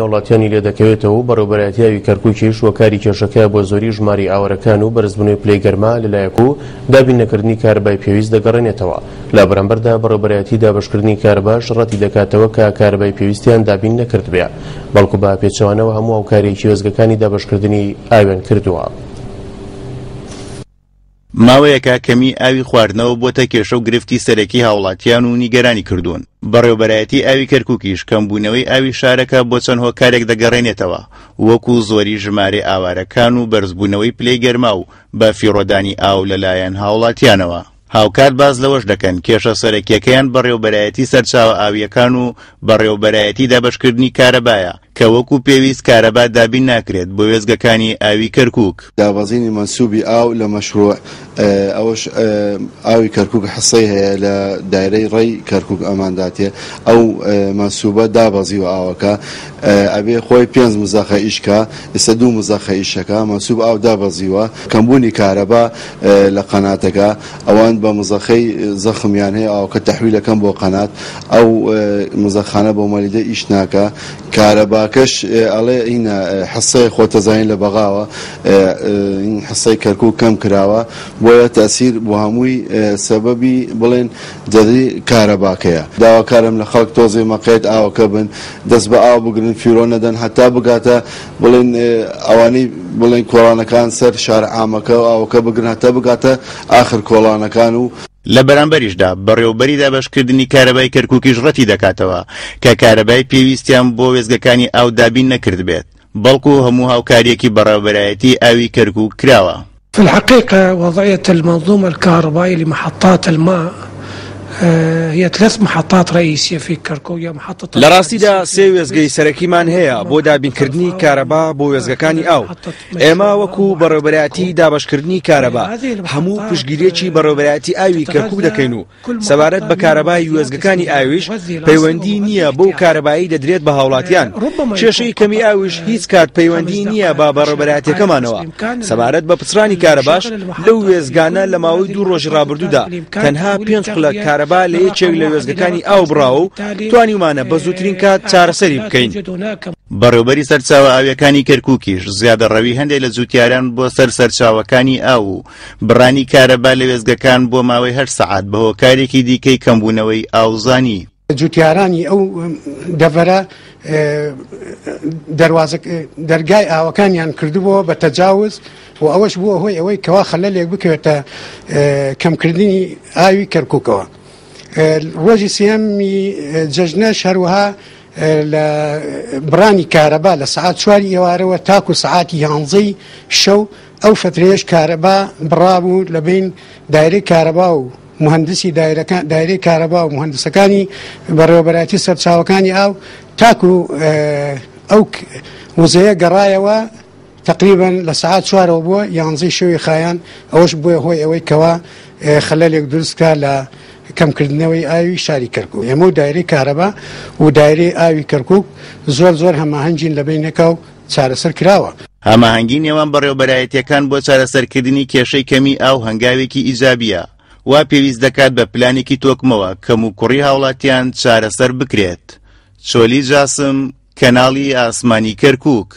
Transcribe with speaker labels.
Speaker 1: هاوڵاتیانی لێدەکەوێتەوە و بەڕێوەبەرایەتی ئاوی کەرکوکیش هۆکاری کێشەکە بۆ زۆری ژمارەی ئاوارەکان و بەرزبوونەوەی پلەی گەرما لەلایەک و دابین نەکردنی کارەبای پێویست دەگەڕێنێتەوە. لە بەرامبەردا بەڕێوەبەرایەتی دابەشکردنی کارەباش ڕەتی دەکاتەوە کە کارەبای پێویستیان دابین نەکردبێ، بەڵکو بە پێچەوانەوە هەموو هاوکارییەکی وێستگەکانی دابەشکردنی ئاویان کردووە.
Speaker 2: ماوەیەکە کەمیی ئاوی خواردنەوە بۆتە کێشە و گرفتی سەرەکی هاوڵاتیان و نیگەرانی کردوون، بەڕێوبەرایەتی ئاوی کەرکوکیش کەمبوونەوەی ئاوی شارەکە بۆ چەند هۆکارێک دەگەڕێنێتەوە، وەکو زۆری ژمارەی ئاوارەکان و بەرزبوونەوەی پلەی گەرما و بە فیڕۆدانی ئاو لەلایەن هاوڵاتیانەوە. هاوکات باس لەوەش دەکەن، کێشە سەرەکییەکەیان بەڕێوبەرایەتی سەرچاوە ئاوییەکان و بەڕێوبەرایەتی دابەشکردنی کارەبایە، کە وەکو پێویست کارەبا دابین ناکرێت بۆ وێستگەکانی ئاوی کەرکوک.
Speaker 3: دابەزینی مەنسوبی ئاو لە مەشروع، ئەوەش ئاوی کەرکوک حسەی هەیە لە دایرەی ڕێی کەرکوک ئەمانداتێ ئەو مەنسوبە دابەزیوە ئاوەکە ئەبێ خۆی پێنج مزەخە ئیش کا ئیستا دوو مزەخە ئیشەکا مەنسوب ئاو دابەزیوە کەمبوونی کارەبا لە قەناتەکە ئەوان بە مزەخەی زەخمیان هەیە ئاوەکە تەحویل ئەکەن بۆ قەنات ئەو مزەخانە بۆ مەلیدە ئیش ناکا کارەباکەش ئەڵێ هینە حسەی خۆتەزانین لە بەغاوە حسەی کەرکوک کەم کراوە بۆیە تەسیر بۆ هەمووی سەبەبی بڵێن جەدری کارەباکەیە داواکارم لە خەڵک تۆزێ مەقێت ئاوەکە بن دەست بە ئاو بگرن فیرۆ نەدەن هەتا بگاتە بڵێن ئەوانەی بڵێن کۆڵانەکان سەر شارع عامەکە و ئاوەکە بگرن هەتا بگاتە ئاخر کۆڵانەکان و.
Speaker 2: لە بەرامبەریشدا بەڕێوەبەری دابەشکردنی کارەبای کەرکوکیش ڕەتی دەکاتەوە کە کارەبای پێویستیان بۆ وێستگەکانی ئاو دابین نەکردبێت، بەڵکو هەموو هاوکارییەکی بەڕێوەبەرایەتی ئاوی کەرکوک کراوە.
Speaker 4: في الحقيقة وضعية المنظومة الكهربائية لمحطات الماء هي ثلاث محطات رئيسية في كركوك هي محطة
Speaker 5: لە ڕاستیدا سێ وێستگەی سەرەکیمان هەیە بۆ دابینکردنی کارەبا بۆ وێستگەکانی ئاو، ئێمە وەکو بەڕێوەبەرایەتی دابەشکردنی کارەبا هەموو پشتگیرییەکی بەڕێوەبەرایەتی ئاوی کەرکوک دەکەین و سەبارەت بە کارەبای وێستگەکانی ئاویش پەیوەندی نییە بەو کارەبایەی دەدرێت بە هاوڵاتیان، کێشەی کەمی ئاویش هیچ کات پەیوەندی نییە بە بەڕێوەبەرایەتیەکەمانەوە، سەبارەت بە پچڕانی کارەباش لەو وێستگانە لە ماوەی دوو ڕۆژی ڕابردوودا تەنها پێنج خولەک کارەبا لە یەکێک لە وێستگەکانی ئاو بڕاوە و توانیومانە بە زووترین کات چارەسەری بکەین.
Speaker 2: بەڕێوبەری سەرچاوە ئاویەکانی کەرکوکیش زیادەڕەوی هەندێک لە جوتیاران بۆ سەر سەرچاوەکانی ئاو و بڕانی کارەبا لە وێستگەکان بۆ ماوەی هەشت سەعات بە هۆکارێکی دیکەی کەمبوونەوەی ئاو زانی.
Speaker 6: جوتیارانی ئەو دەڤەرە دەروازە دەرگای ئاوەکانیان کردبووە بە تەجاوز و ئەوەش بووە هۆی ئەوەی کەوا خەلەلێک بکەوێتە کەمکردنی ئاوی کەرکووکەوە. ڕۆژی سێیەمی جەژنەش هەروەها لە بڕانی کارەبا لە سەعات چواری ئێوارەوە تاکو سەعاتی یانزەی شەو ئەو فەترەیەش کارەبا بڕابوو لە بەین دایرەی کارەبا و موهەندسی دایرەکان دایرەی کارەبا و موهەندسەکانی بەڕێوەبەرایەتی سەرچاوەکانی ئاو تاکو ئەو وزەیە گەڕایەوە تەقریبەن لە سەعات چوارەوە بۆ یانزەی شەوی خایان ئەوەش بووە هۆی ئەوەی کەوا خەلەلێک دروست کا لە کەمکردنەوەی ئاوی شاری کەرکوک ئێمە و دایرەی کارەبا و دایرەی ئاوی کەرکوک زۆر زۆر هەماهەنگین لە بەینەکا و چارەسەر کراوە.
Speaker 2: هەماهەنگی نێوان بەڕێوەبەرایەتییەکان بۆ چارەسەرکردنی کێشەی کەمی ئاو هەنگاوێکی ئیجابییە، وا پێویست دەکات بە پلانێکی تۆکمەوە کەموکوڕی هاوڵاتیان چارەسەر بکرێت. چۆلی جاسم، کەناڵی ئاسمانی کەرکوک.